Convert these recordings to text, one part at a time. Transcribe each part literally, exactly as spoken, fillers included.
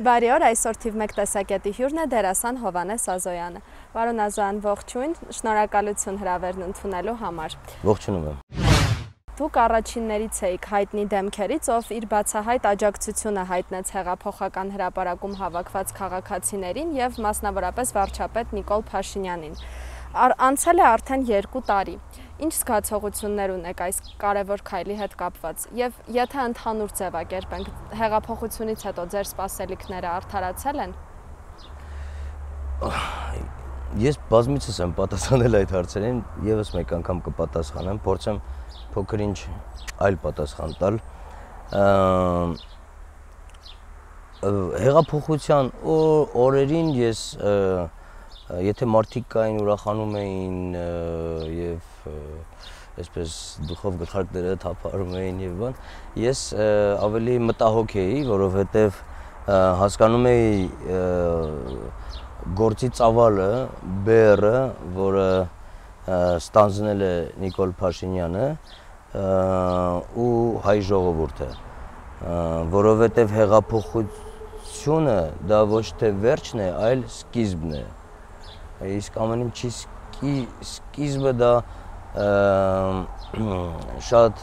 Բարի օր, այսօր թիվ մեկ տեսակետի հյուրն է դերասան Հովհաննես Ազոյանը։ Պարոն Ազոյան, ողջույն, շնորհակալություն հրավերն ընդունելու համար։ Ողջունում եմ։ Դուք առաջիններից էիք հայտնի դեմքերից, ով իր բացահայտ աջակցությունը հայտնեց հեղափոխական հրապարակում հավաքված քաղաքացիներին եւ մասնավորապես վարչապետ Նիկոլ Փաշինյանին։ Անցել է արդեն երկու տարի։ Ինչ զգացողություններ ունեք այս կարևոր քայլի հետ կապված եւ եթե ընդհանուր ձևակերպենք, հեղափոխությունից հետո ձեր սպասելիքները արդարացել են։ Ես բազմիցս եմ պատասխանել այդ հարցերին, եւս մեկ անգամ կպատասխանեմ, փորձեմ փոքր-ինչ այլ պատասխան տալ։ Հեղափոխության օրերին ես եթե մարդիկ կային ուրախանում էին եւ այսպես դուխով գլխարկները թափարում էին եւ բան, ես ավելի մտահոգ էի, որովհետեւ հասկանում էի գործի ծավալը, բեռը, որը ստանձնել է Նիկոլ Փաշինյանը ու հայ ժողովուրդը, որովհետեւ հեղափոխությունը դա ոչ թե վերջն է, այլ սկիզբն է։ Իսկ ամեն ինչի սկիզբը դա շատ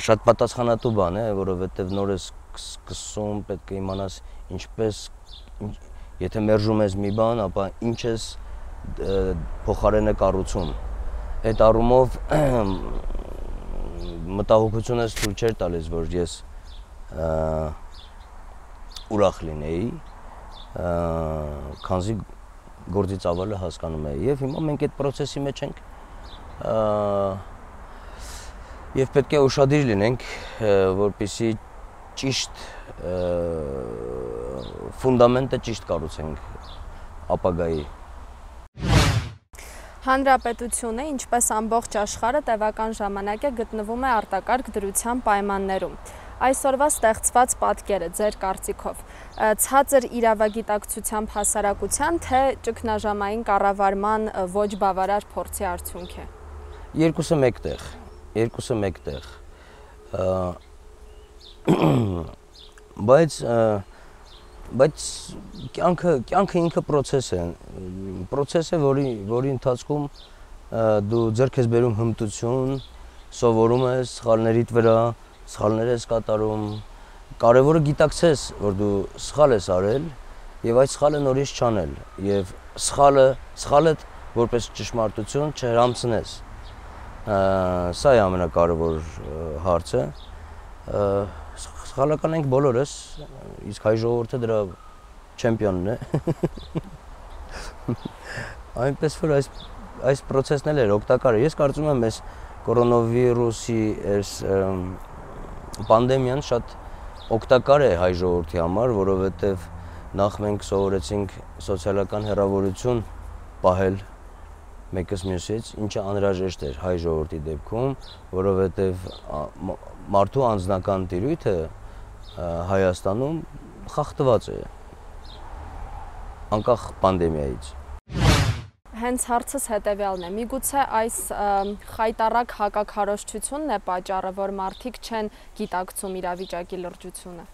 շատ պատասխանատու բան է, որովհետև նոր ես սկսում, պետք է իմանաս ինչպես, եթե մերժում ես մի բան, ապա ինչ ես փոխարենը կառուցում։ Այդ առումով մտահոգությունը ցույց չէր տալիս, որ ես ուրախ լինեի, քանզի գործի ծավալը հասկանում է եւ հիմա մենք այդ process-ի մեջ ենք եւ պետք է ուշադիր լինենք, որպեսզի ճիշտ ֆունդամենտը ճիշտ կառուցենք ապագայի։ Հանրապետությունը, ինչպես ամբողջ աշխարհը, տևական ժամանակ է գտնվում է արտակարգ դրության պայմաններում։ Այսօրվա ստեղծված պատկերը ձեր կարծիքով ցածր իրավագիտակցությամբ հասարակության, թե ճգնաժամային կառավարման ոչ բավարար փորձի արդյունք է։ Երկուսը մեկտեղ, երկուսը մեկտեղ։ Բայց բայց կյանքը կյանքը ինքը process է, process է, որի որի ընթացքում դու ձեռք ես բերում հմտություն, սովորում ես սխալներիդ վրա, սխալներ ես կատարում, կարևորը գիտակցես, որ դու սխալ ես արել եւ այդ սխալը նորից չանել եւ սխալը սխալը որպես ճշմարտություն չհրամցնես։ Սա է ամենակարևոր հարցը։ Սխալական ենք բոլորս, իսկ հայ ժողովուրդը դրա չեմպիոնն է։ Այնպես որ այս այս process-ն էլ է օգտակար։ Ես կարծում եմ, այս կորոնավիրուսի այս պանդեմիան շատ օգտակար է հայ ժողովրդի համար, որովհետև նախ մենք սովորեցինք սոցիալական հեռավորություն պահել մեկս մյուսից, ինչը անհրաժեշտ էր հայ ժողովրդի դեպքում, որովհետև մարդու անձնական տիրույթը Հայաստանում խախտված է անկախ պանդեմիայից։ Հենց հարցս հետևյալն է, միգուցե այս խայտառակ հակաքարոզչությունն է պատճառը, որ մարդիկ չեն գիտակցում իրավիճակի լրջությունը։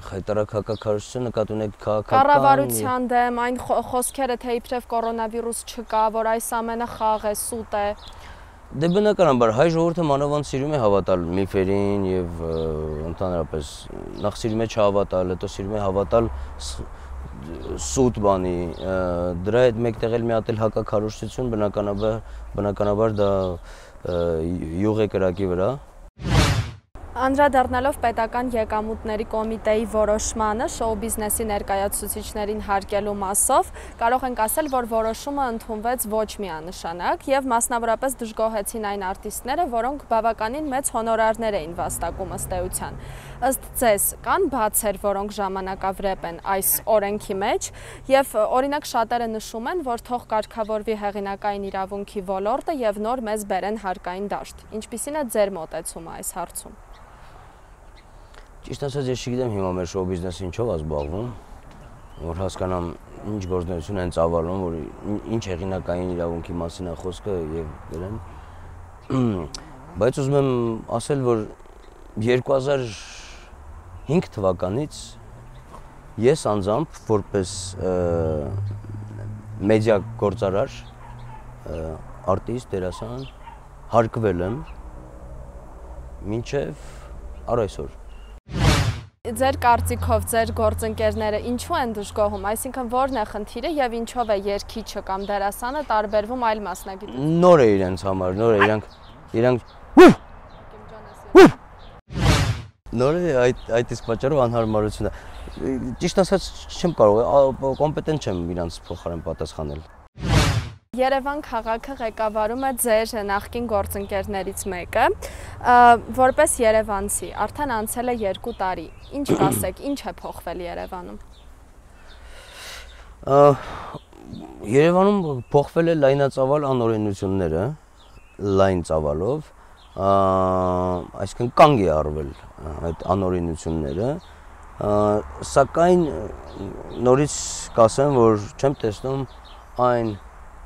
Խայտառակ հակաքարոզչությունը նկատի ունեք քաղաքական կառավարության դեմ, այն խոսքերը, թե իբրև կորոնավիրուս չկա, որ այս ամենը խաղ է, սուտ է։ Դե բնականաբար հայ ժողովուրդը մանավանդ սիրում է հավատալ միֆերին եւ ընդհանրապես նախ սիրում է չհավատալ, հետո սիրում է հավատալ սուտ բանի, դրա հետ մեկտեղ էլ մի հատ էլ հակաքարոզչություն բնականաբար բնականաբար դա յուղ է կրակի վրա։ Անդրադառնալով պետական եկամուտների կոմիտեի որոշմանը շոու բիզնեսի ներկայացուցիչներին հարկելու մասով, կարող ենք ասել, որ որոշումը ընդունվեց ոչ միանշանակ եւ մասնավորապես դժգոհեցին այն արտիստները, որոնք բավականին մեծ հոնորարներ էին վաստակում ըստ էության։ Ըստ ձեզ, կան բացեր, որոնք ժամանակավրեպ են այս օրենքի մեջ եւ օրինակ շատերը նշում են, որ թող կարգավորվի հեղինակային իրավունքի ոլորտը եւ նոր մեզ բերեն հարկային դաշտ։ Ինչպիսին է ձեր մոտեցումը այս հարցում։ Ճիշտ ասած, ես չգիտեմ հիմա մեր շոու բիզնեսը ինչով է զբաղվում, որ հասկանամ ինչ գործունեություն են ծավալում, որ ինչ հեղինակային իրավունքի մասին է խոսքը եւ դրան։ Բայց ուզում եմ ասել, որ երկու հազար հինգ թվականից ես անձամբ որպես մեդիա գործարար, արտիստ, դերասան հարկվել եմ մինչև առ այսօր։ Ձեր կարծիքով ձեր գործընկերները ինչու են դժգոհում, այսինքն որն է խնդիրը եւ ինչով է երգիչը կամ դերասանը տարբերվում այլ մասնագետներից։ Նոր է իրենց համար, նոր է իրանք իրանք նոր է այդ այդ իսկ պատճառով անհարմարությունը։ Ճիշտ ասած չեմ կարող, կոմպետենտ չեմ իրանց փոխարեն պատասխանել։ Երևան քաղաքը ղեկավարում է ձեր նախկին գործընկերներից մեկը, որպես երևանցի, արդեն անցել է երկու տարի, ինչ կասեք, ինչ է փոխվել Երևանում։ Երևանում փոխվել է լայնածավալ անօրենությունները, լայն ծավալով, այսինքն կանգ է առվել այդ անօրենությունները, սակայն նորից կասեմ, որ չեմ տեսնում այն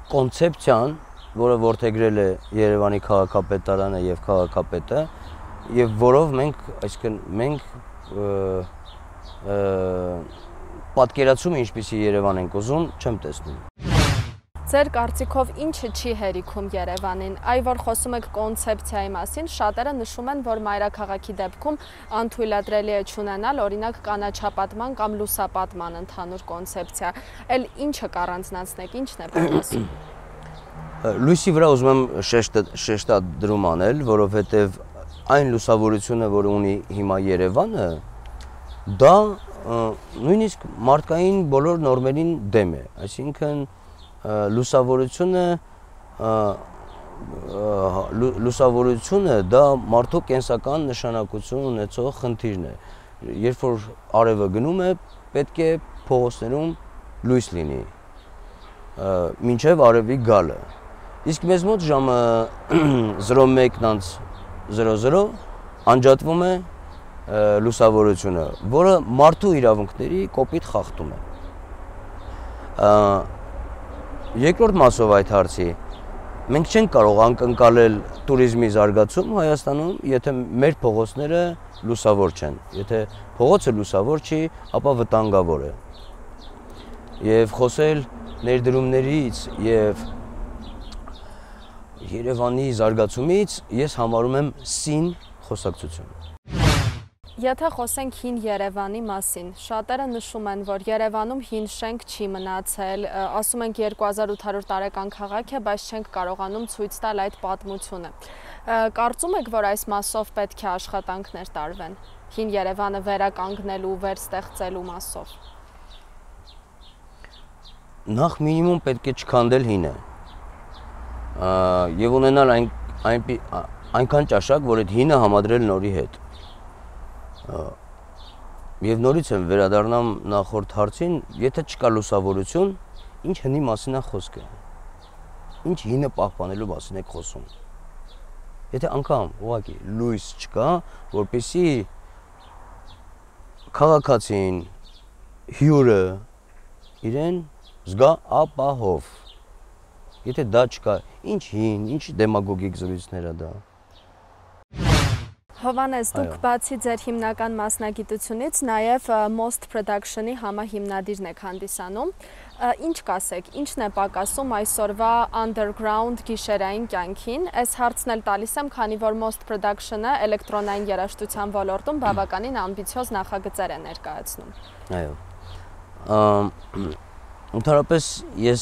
կոնցեպցիան, որը որդեգրել է Երևանի քաղաքապետարանը եւ քաղաքապետը, եւ որով մենք, այսինքն մենք պատկերացումը ինչպիսի Երևան ենք ուզում, չեմ տեսնում։ Ձեր կարծիքով ինչը չի հերիքում Երևանին, այ որ խոսում եք կոնցեպցիայի մասին, շատերը նշում են, որ մայրաքաղաքի դեպքում անթույլատրելի է չունենալ, օրինակ կանաչապատման կամ լուսապատման ընդհանուր կոնցեպցիա, էլ ինչը կառանձնացնեք, ինչն է պատասխանում։ Լույսի վրա ուզում եմ շեշտադրում անել, որովհետև այն լուսավորությունը, որ ունի հիմա Երևանը, դա նույնիսկ մարդկային բոլոր նորմերին դեմ է, այսինքն լուսավորությունը լուսավորությունը դա մարդու կենսական նշանակություն ունեցող խնդիրն է։ Երբ որ արևը գնում է, պետք է փողոցներում լույս լինի, մինչև արևի գալը։ Իսկ մեզ մոտ ժամը զրո մեկ զրո զրո անջատվում է լուսավորությունը, որը մարդու իրավունքների կոպիտ խախտում է։ Երկրորդ մասով այդ հարցի, մենք չենք կարող անկնկալել տուրիզմի զարգացում Հայաստանում, եթե մեր փողոցները լուսավոր չեն, եթե փողոցը լուսավոր չի, ապա վտանգավոր է։ Եվ խոսել ներդրումներից եւ Երևանի զարգացումից ես համարում եմ սին խոսակցություն։ Եթե խոսենք հին Երևանի մասին, շատերը նշում են, որ Երևանում հին շենք չի մնացել, ասում ենք երկու հազար ութ հարյուր տարեկան քաղաք է, բայց չենք կարողանում ցույց տալ այդ պատմությունը։ Կարծում եք, որ այս մասով պետք է աշխատանքներ տարվեն, հին Երևանը վերականգնելու, վերստեղծելու մասով։ Նախ մինիմում պետք է չքանդել հինը եւ ունենալ այն այնքան ճաշակ, որ այդ հինը համադրել նորի հետ։ Եվ նորից եմ վերադառնամ նախորդ հարցին, եթե չկա լուսավորություն, ինչ հնի մասին է խոսքը, ինչ հինը պահպանելու մասին եք խոսում։ Եթե անգամ ուղղակի լույս չկա, որպեսզի քաղաքացին, հյուրը իրեն զգա ապահով։ Եթե դա չկա, ինչ հին, ինչ դեմագոգիկ զրույցներ է դա։ Հովհաննես, դուք բացի ձեր հիմնական մասնագիտությունից նաև Most Production-ի համահիմնադիրն եք հանդիսանում։ Ինչ կասեք, ինչն է պակասում այսօրվա underground գիշերային կյանքին։ Այս հարցն էլ տալիս եմ, քանի որ Most Production-ը էլեկտրոնային երաժշտության ոլորտում բավականին ամբիցիոզ նախագծեր է ներկայացնում։ Այո։ Ընդհանրապես ես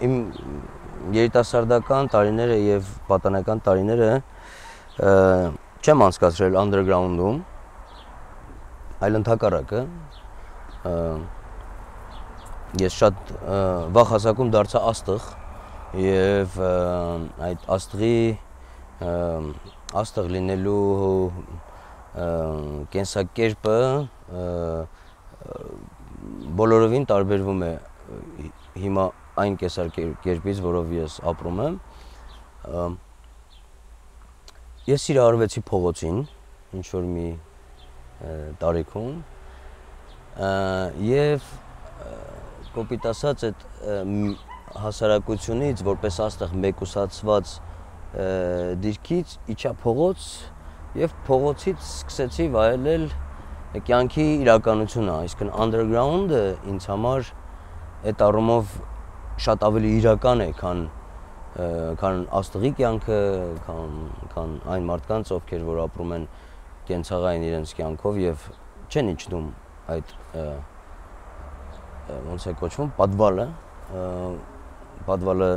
իմ երիտասարդական տարիները եւ պատանեկան տարիները չեմ անցկացրել underground-ում, այլ ընդհակառակը ես շատ վաղ հասակում դարձա աստղ եւ այդ աստղի աստղ լինելու կենսակերպը բոլորովին տարբերվում է հիմա այն կեսարկերպից, որով ես ապրում եմ, ես սիրահարվեցի փողոցին, ինչ-որ մի տարիքում, և կոպիտ ասած այդ հասարակությունից, որպես աստղ մեկուսացված դիրքից իջա փողոց և փողոցից սկսեցի վայելել կյանքի իրականությունն է, այսինքն underground-ը ինձ համար այդ առումով շատ ավելի իրական է, քան քան աստղի կյանքը, քան քան այն մարդկանց, ովքեր որ ապրում են կենցաղային իրենց կյանքով եւ չեն իջնում այդ ոնց է կոչվում, պատվալը, պատվալը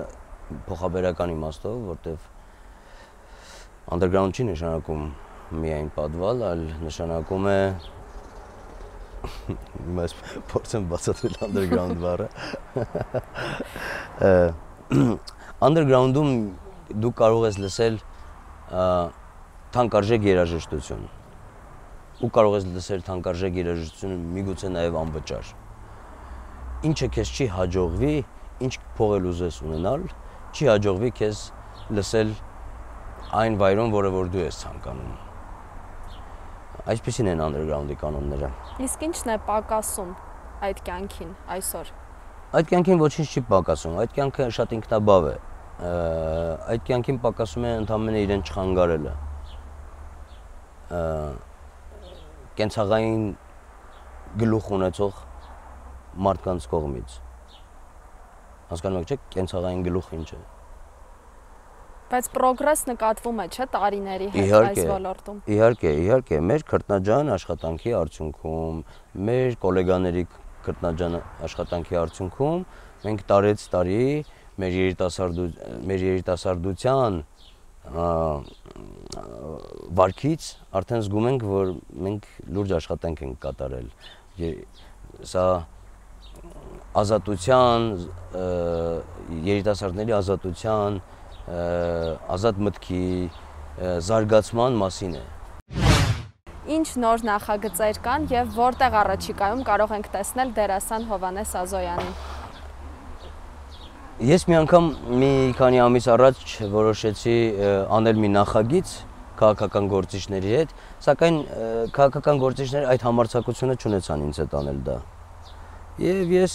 փոխաբերական իմաստով, որտեվ underground չի նշանակում միայն պատվալ, այլ նշանակում է Mas փորձեմ բացատրել underground բառը։ Underground-ում դու կարող ես լսել թանկարժեք երաժշտություն։ Ու կարող ես լսել թանկարժեք երաժշտությունը միգուցե նաև անվճար։ Ինչը քեզ չի հաջողվի, ինչ փող էլ ուզես ունենալ, չի հաջողվի քեզ լսել այն վայրում, որը որ դու ես ցանկանում։ Այսպեսին են underground-ի կանոնները։ Իսկ ինչն է պակասում այդ կյանքին այսօր։ Այդ կյանքին ոչինչ չի պակասում, այդ կյանքը շատ ինքնաբավ է։ Այդ կյանքին պակասում է ընդամենը իրեն չխանգարելը։ Կենցաղային գլուխ ունեցող մարդկանց կողմից։ Հասկանում եք, չէ՞, կենցաղային գլուխ ինչ է։ Բայց պրոգրես նկատվում է, չէ՞, տարիների հետ այս ոլորտում։ Իհարկե, իհարկե, մեր քրտնաջան աշխատանքի արդյունքում, մեր գոլեգաների քրտնաջան աշխատանքի արդյունքում մենք տարեց տարի մեր երիտասարդության մեր երիտասարդության վարքից արդեն զգում ենք, որ մենք լուրջ աշխատանք ենք կատարել։ Սա ազատության, երիտասարդների ազատության ազատ մտքի զարգացման մասին է։ Ինչ նոր նախագծեր կան եւ որտեղ առաջիկայում կարող ենք տեսնել դերասան Հովհաննես Ազոյանին։ Ես մի անգամ մի քանի ամիս առաջ որոշեցի անել մի նախագիծ քաղաքական գործիչների հետ, սակայն քաղաքական գործիչները այդ համարձակությունը չունեցան ինձ հետ անել դա։ Եվ ես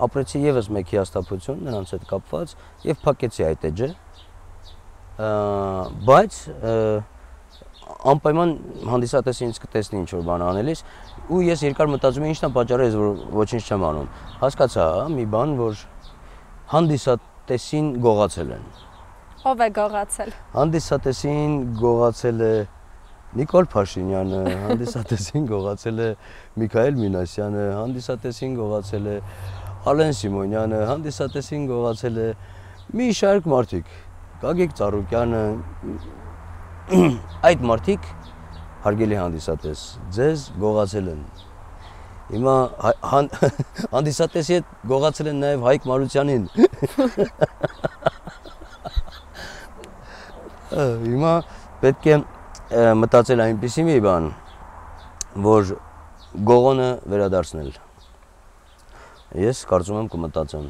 ապրեցի եւս մեկ հիասթափություն նրանց հետ կապված եւ փակեցի այդ էջը։ Բայց անպայման հանդիսատեսը ինձ կտեսնի ինչ որ բան անելիս ու ես երկար մտածում եմ ինչն է պատճառը, ես որ ոչինչ չեմ անում։ Հասկացա, մի բան, որ հանդիսատեսին գողացել են։ Ո՞վ է գողացել։ Հանդիսատեսին գողացել է Նիկոլ Փաշինյանը, հանդիսատեսին գողացել է Միքայել Մինասյանը, հանդիսատեսին գողացել է Ալեն Սիմոնյանը, հանդիսատեսին գողացել է մի շարք մարդիկ, Գագիկ Ծառուկյանը, այդ մարդիկ հարգելի հանդիսատես, ձեզ գողացել են։ Հիմա հանդիսատեսի հետ գողացել են նաև Հայկ Մարությանին։ Հիմա պետք է մտածել այնպիսի մի բան, որ գողոնը վերադարձնել։ Ես կարծում եմ կմտածեմ։